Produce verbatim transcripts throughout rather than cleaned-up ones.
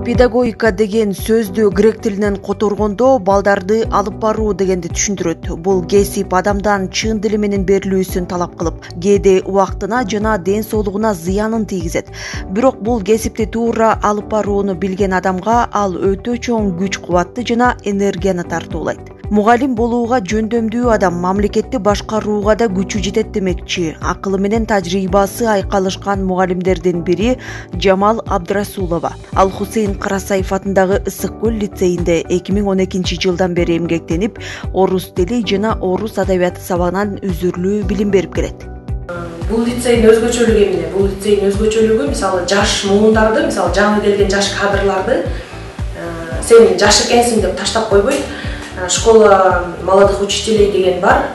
Педагогика деген сөздү грек тилинен которгондо балдарды алып баруу дегенди түшүндүрөт. Бул кесип адамдан чын дили менен берилүүсүн талап кылып, кээде убактына жана ден соолугуна зыянын тийгизет. Бирок бул кесипти туура алып барууну билген адамга ал өтө чоң күч-кубатты жана энергияны тартуулайт. Мугалим болууга жөндөмдүү адам мамлекетти башкарууга да күчү жетет демекчи. Акылы менен тажрыйбасы айкалышкан мугалимдердин бири Жамал Абдрасулова. Ал Хусейн Карасаев атындагы Ысык көл лицейинде эки миң он экинчи жылдан бери эмгектенип, орус тили жана орус адабияты сабагынан үзүрлүү билим берип келет. Бул лицейдин өзгөчөлүгү эмне? Бул лицейдин өзгөчөлүгү мисалы жаш муундарды, мисалы жаңы келген жаш кадрларды сен жаш экенсиң деп таштап койбойт. Школа молодых учителей деген бар.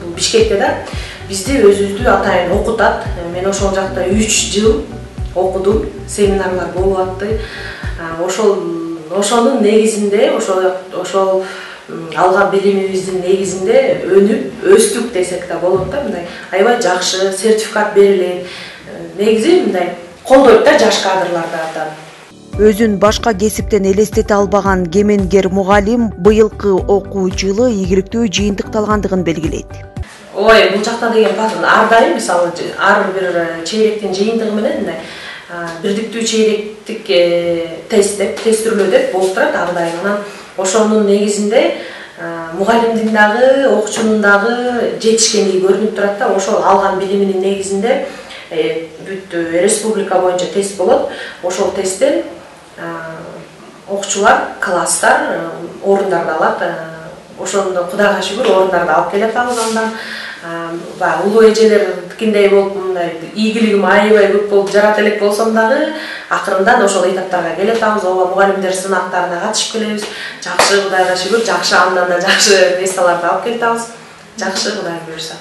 Бул Бишкекте да. Бизди өзүбүздү атайын окутат. Мен ошол жакта үч жыл окудум, семинарлар болуп атты. Ошол ошонун негизинде, ошол ошол алган билимибиздин негизинде өнүп, өстүк десек да болот да, мындай аябай жакшы сертификат берилет. Негизи мындай колдойт да жаш кадрларды абдан. Өзүн башка кесиптен элестете албаган кеменгер мугалим быйылкы окуу жылы ийгиликтүү жыйынтыкталгандыгын белгилейт. Ой, бул жакта деген ар дайым мисалы ар бир чейректин жыйынтыгы менен мындай бирдиктүү чейректик тест деп, тестирлөө деп болуп турат ар дайым. Анан ошонун негизинде мугалимдин дагы, окуучунун дагы жетишкендиги көрүнүп турат да. Ошол алган билиминин негизинде бүт республика боюнча тест болот. Ошол тесттен окуучулар, класстар орундарды алат. Ошондо Кудайга шүгүр орундарды алып келе атабыз. Андан баягы улуу эжелердикиндей болуп, мындай ийгилигим аябай көп болуп жарата элек болсом дагы, акырындан ошол этаптарга келе атабыз. Ооба, мугалимдер сынактарына катышып келебиз. Жакшы, Кудайга шүгүр, жакшы, андан да жакшы месторлорду алып келе атабыз. Жакшы, Кудай буйрса.